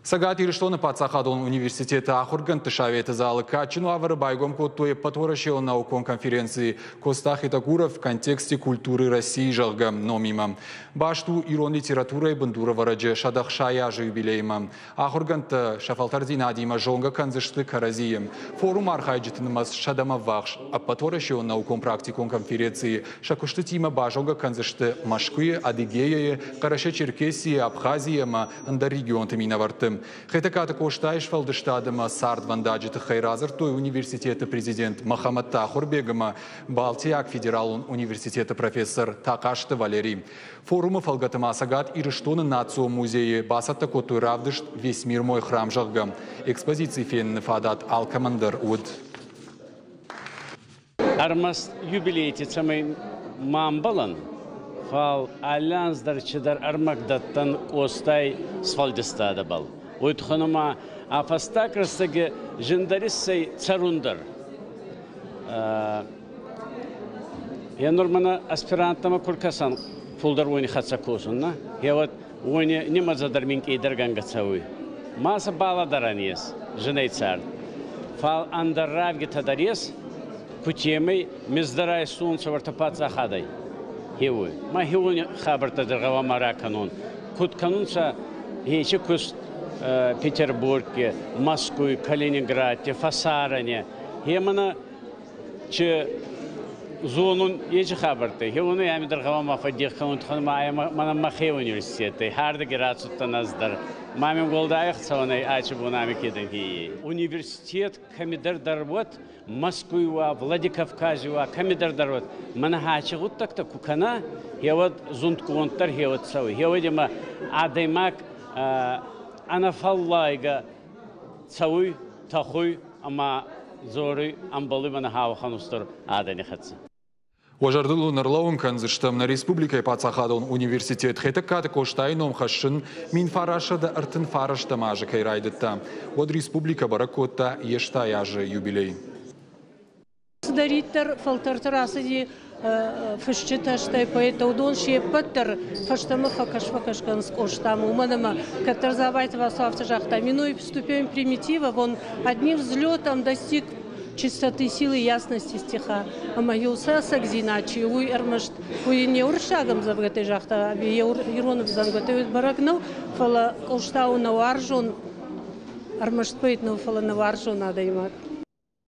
Цӕгат Ирыстоны паддзахадон университеты ахуыргӕндты советы залы кадджын уавӕры байгом кодтой ӕппӕтуӕрӕсеон наукон конференци «Коста Хетагуров в контексте культуры России», зӕгъгӕ, номимӕ. Баст у ирон литературӕйы бындурӕвӕрӕджы 160 азы юбилеймӕ. Ахуыргӕндтӕ сӕ фӕлтӕрдзинадимӕ зонгӕ кӕндзысты кӕрӕдзийы. Форум архайджыты нымӕц сӕдӕмӕ ввахс. Ӕппӕтуӕрӕсеон наукон-практикон конференцийы сӕ куыстытимӕ базонгӕ кӕндзысты Мӕскуыйы, Адыгеяйы, Хъӕрӕсе-Черкесийы, Абхазийы ӕмӕ ӕндӕр регионты минӕвӕртты. Хетӕгкаты Къостайы сфӕлдыстад ӕмӕ цардвӕндаджы тыххӕй радзырдтой университеты президент Мӕхӕмӕтты Ахуырбег ӕмӕ Балтийаг федералон университеты профессор Тахъазты Валерий. Форумы фӕлгӕты ма Цӕгат Ирыстоны национ музейы бацӕттӕ кодтой равдыст «Весь мир мой храм», зӕгъгӕ. Экспозици феныны фадат алкӕмӕн дӕр уыд. Ӕрмӕст юбилейти цӕмӕй ма ӕмбӕлӕн, фал алли анз дӕр чидӕр ӕрмӕг дӕттӕн Къостай сфӕлдистадӕбӕл. Уой туххӕн ӕма ӕ фӕстаг рӕстӕги зиндӕр иссӕй цӕрун дӕр. Е нур мӕнӕ аспиранттӕмӕ ку ркӕсӕн, фулдӕр уони хӕццӕ косун, нӕ? Гъеуӕд уони нимӕдзӕ дӕр минкъийдӕргӕнгӕ цӕуй. Ма сӕ балӕдӕрӕн ес зинӕй цард. Фал ӕндӕр равгитӕ дӕр ес, кутемӕй мездӕрӕй сунцӕ уӕртӕ паддзахадӕй. Хеуй. Ма хеуони хабӕрттӕ дӕр гъӕуама ракӕнон. Куд кӕнунцӕ ечи куст Петербургке, Москвй, Калининградте, фӕсарӕне. Хемӕнӕ чи зонун ечи хабӕрттӕ. Хеуони ами дӕр гъӕуама фӕддех кӕнун туххӕн ма мӕнӕ мӕхе университеттӕй хӕрдӕги рацудтӕн ӕз дӕр. Ма мин уӕлдай ӕхцӕуӕнӕй ачи бон ами кедӕн хеййей. Университет кӕмидӕр дӕр уӕд, Мӕскуй уа, Владикавкази уа, кӕмидӕр дӕр уӕд, мӕнӕ ачи гъуддӕгтӕ ку кӕна, хеуӕд зундгонддӕр хеуӕд цӕуй. Хеуӕд имӕ адӕймаг ӕнӕфӕллайгӕ цӕуй, тӕхуй ӕма дзоруй ӕмбӕлуй мӕнӕ хауӕхӕн устур адӕни хӕццӕ. Уӕ зӕрдыл уын ӕрлӕууын кӕндзыстӕм, нӕ республикӕйы паддзахадон университет Хетӕгкаты Къостайы ном хӕссын 1939 азы кӕй райдыдта, уӕд республикӕ бӕрӕг кодта йе 80 азы юбилей. Цыдӕриддӕр фӕлтӕрты рацыди фысджытӕ, стӕй поэттӕ, уыдон се ппӕт дӕр фӕстӕмӕ фӕкӕс-фӕкӕс кӕнынц Къостамӕ, уымӕн ӕмӕ кӕддӕр Дзабайты Васо афтӕ загъта: «Минуя ступень примитива, он одним взлетом достиг чистоты силы ясности стиха». Ӕмӕ иу сӕ ӕцӕгдзинад чи у, уый ӕрмӕст уый не уырыссаг ӕмдзӕвгӕтӕй загъта, ӕви йӕ ирон ӕмдзӕвгӕтӕй уый бӕрӕг нӕу, фӕлӕ Къоста у нӕ уарзон, ӕрмӕст поэт нӕу, фӕлӕ нӕ уарзон адӕймаг.